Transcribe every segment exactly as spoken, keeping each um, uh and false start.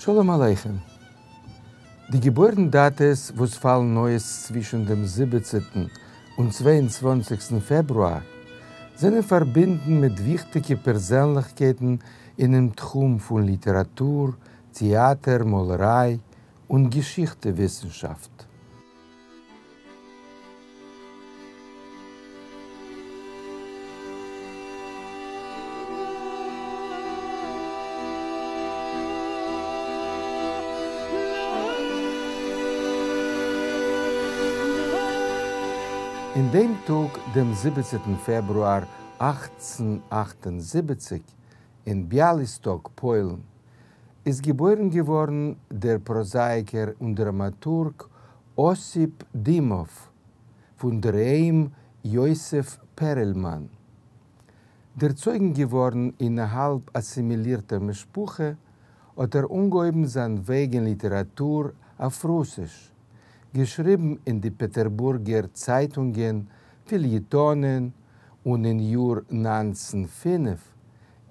שלום עליכם. די געבוירן-דאטעס וואס פאלן אויס צווישן דעם זיבעצנטן און צוויי און צוואַנציקסטן פעברואר זענען פארבינדן מיט וויכטיגע פערזענליכקייטן אינעם תחום פון ליטעראטור, טעאטער, מאלעריי און געשיכטע-וויסנשאפט. אין דעם טאג, דעם זיבעצנטן פעברואר אַכצן אַכט און זיבעציק, אין ביאליסטאק, פוילן, איז געבוירן געווארן דער פראזאיקער און דראמאטורג אסיפ דימאוו, פון דער היים יוסף פערעלמאן. דערצויגן געווארן אין א האלב אסימילירטער משפחה, האט ער אנגעהויבן זיין וועג אין ליטעראטור אויף רוסיש, געשריבן אין די פעטערבורגער צייטונגען, פעליעטאנען, און אין יאר נײַנצן פֿינף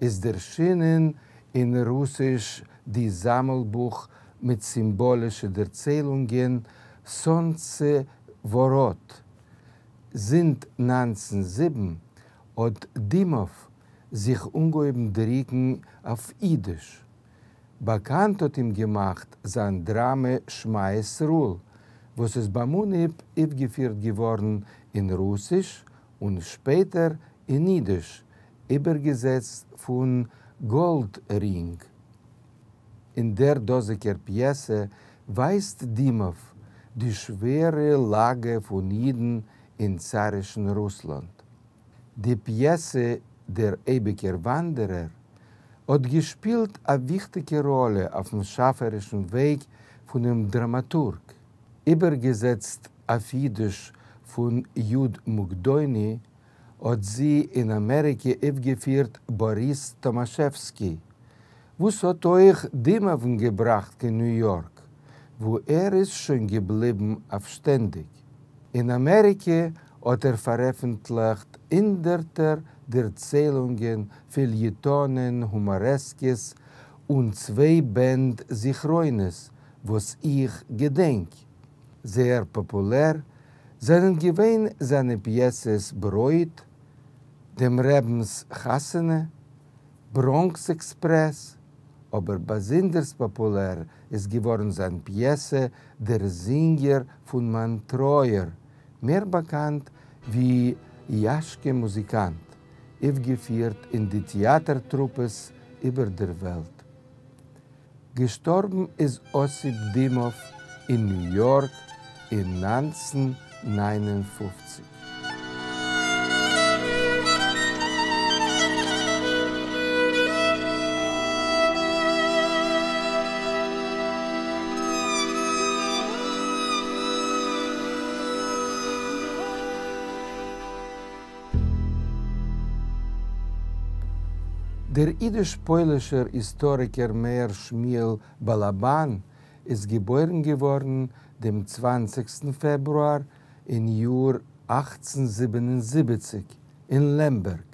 איז דערשינען אין רוסיש די זאמלבוך מיט סימבאלישע דערציילונגען סאנצע-וואראט. זינט נײַנצן זיבן האט דימאוו זיך אנגעהויבן דרוקן אויף אידיש. באקאנט האט אים געמאכט זיין דראמע שמע ישראל, וואס איז ביים אנהייב אויפגעפירט געווארן אין רוסיש און שפעטער אין אידיש, איבערגעזעצט פון גאלדרינג. אין דער דאזיגער פיעסע ווייזט דימאוו די שווערע לאגע פון אידן אין צארישן רוסלאנד. די פיעסע דער אייביגער וואנדערער האט געשפילט א וויכטיגע ראלע אויפן שאפערישן וועג פונעם דראמאטורג. איבערגעזעצט אויף אידיש פון י' מוקדוני, האט זי אין אמעריקע אויפגעפירט באריס טאמאשעווסקי, וואס האט אויך דימאוון געבראכט קיין ניו יארק, וואו ער איז שוין געבליבן אויף שטענדיג. אין אמעריקע האט ער פארעפנטליכט הונדערטער דערציילונגען, פעליעטאנען, הומארעסקעס און צוויי בענד זכרונות וואס איך געדענק. זייער פאפולער זענען געווען זיינע פיעסעס ברויט, דעם רבינ'ס חתונה, בראנקס עקספרעס, אבער באזונדערס פאפולער איז געווארן זיין פיעסע דער זינגער פון מיין טרויער, מער באקאנט ווי יאשקע מוזיקאנט, אויפגעפירט אין די טעאטער טרופעס איבער דער וועלט. געשטארבן איז אסיפ דימאוו אין ניו יארק אין נײַנצן נײַן און פֿופֿציק. דער אידיש-פוילישער היסטאריקער מאיר שמואל באלאבאן איז געבוירן געווארן דעם צוואַנציקסטן פעברואר אין יאר אַכצן זיבן און זיבעציק אין לעמבערג.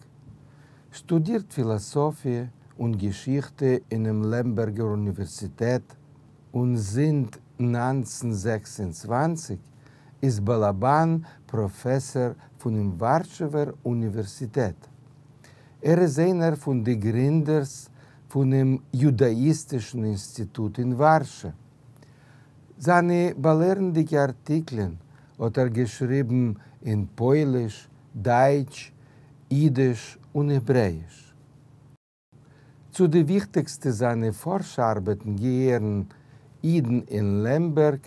שטודירט פילאסאפיע און געשיכטע אינעם לעמבערגער אוניווערסיטעט, און זינט נײַנצן זעקס און צוואַנציק איז באלאבאן פראפעסאר פונעם ווארשעווער אוניווערסיטעט. ער איז איינער פון די גרינדערס פונעם יודאיסטישן אינסטיטוט אין ווארשע. זיינע באלערנדיגע ארטיקלען האט ער געשריבן אין פויליש, דייטש, אידיש און העברעאיש. צו די וויכטיגסטע זיינע פארש-ארבעטן געהערן אידן אין לעמבערג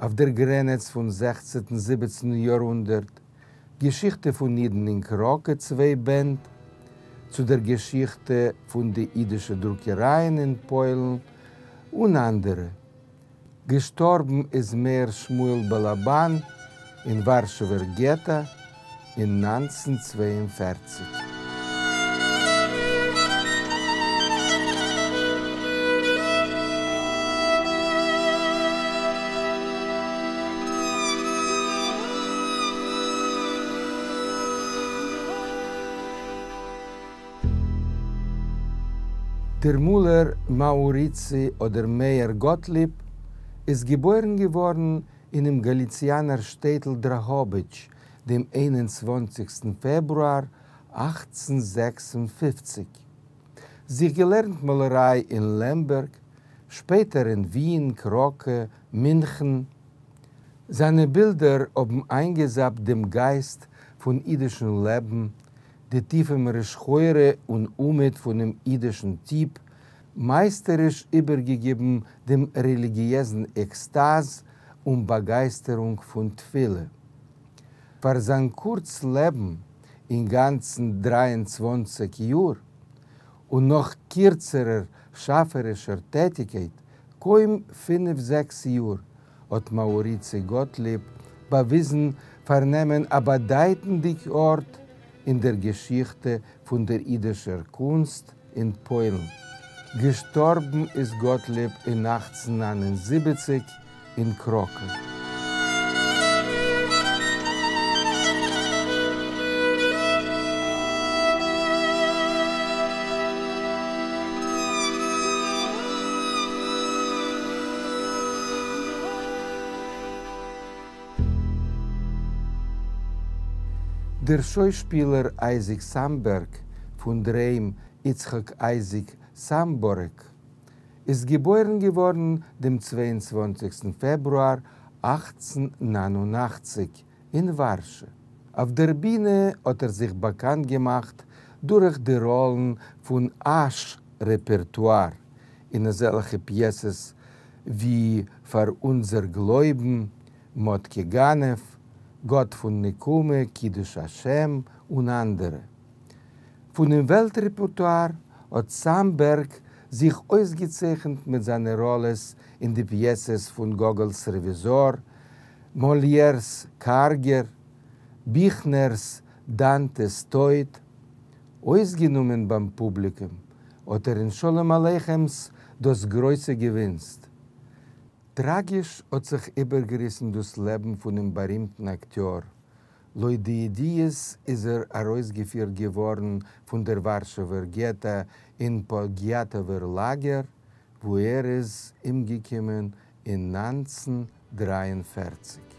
אויף דער גרענעץ פון זעכצנטן-זיבעצנטן יארהונדערט, געשיכטע פון אידן אין קראקע צוויי בענד, צו דער געשיכטע פון די אידישע דרוקערייען אין פוילן און אנדערע. געשטארבן איז מאיר שמואל באלאבאן אין ווארשעווער געטא אין נײַנצן צוויי און פֿערציק. דער מאלער מאוריצי אדער מאיר גאטליב איז געבוירן געווארן אינעם גאליציאנער שטעטל דראהאביטש דעם איין און צוואַנציקסטן פעברואר אַכצן זעקס און פֿופֿציק. זיך געלערנט מאלעריי אין לעמבערג, שפעטער אין ווין, קראקע, מינכן. זיינע בילדער האבן איינגעזאפט דעם גייסט פון אידישן לעבן, די טיפע מרה-שחורה און אומעט פונעם אידישן טיפ, מייסטעריש איבערגעגעבן דעם רעליגיעזן עקסטאז און באגייסטערונג פון תפילה. פאר זיין קורץ לעבן, אינגאנצן דרײַ און צוואַנציק יאר, און נאך קירצערער שאפערישער טעטיקייט, קוים פינף-זעקס יאר, האט מאוריצי גאטליב באוויזן פארנעמען א באדייטנדיק ארט אין דער געשיכטע פון דער אידישער קונסט אין פוילן. געשטארבן איז גאטליב אין אַכצן נײַן און זיבעציק אין קראקע. דער שוישפילער אייזיק סאמבערג, פון דער היים יצחק אייזיק סאמבארעק, איז געבוירן געווארן דעם צוויי און צוואַנציקסטן פעברואר אַכצן נײַן און אַכציק אין ווארשע. אויף דער בינע האט ער זיך באקאנט געמאכט דורך די ראלן פון אש רעפערטואר אין אזעלכע פיעסעס ווי פאר אונדזער גלויבן, מאטקע גנב, גאט פון נקמה, קידוש השם און אנדערע. פונעם וועלט-רעפערטואר האט סאמבערג זיך אויסגעצייכנט מיט זיינע ראלעס אין די פיעסעס פון גאגאלס רעוויזאר, מאליערס קארגער, ביכנערס דאנטעס טויט. אויסגענומען ביים פובליקום האט ער אין שלום עליכמס דאס גרויסע געווינסט. טראגיש האט זיך איבערגעריסן דאס לעבן פונעם בארימטן אקטיאר. לויט די ידיעות איז ער ארויסגעפירט געווארן פון דער ווארשעווער געטא אין פאגיאטאווער לאגער, וואו ער איז אומגעקומען אין נײַנצן דרײַ און פֿערציק.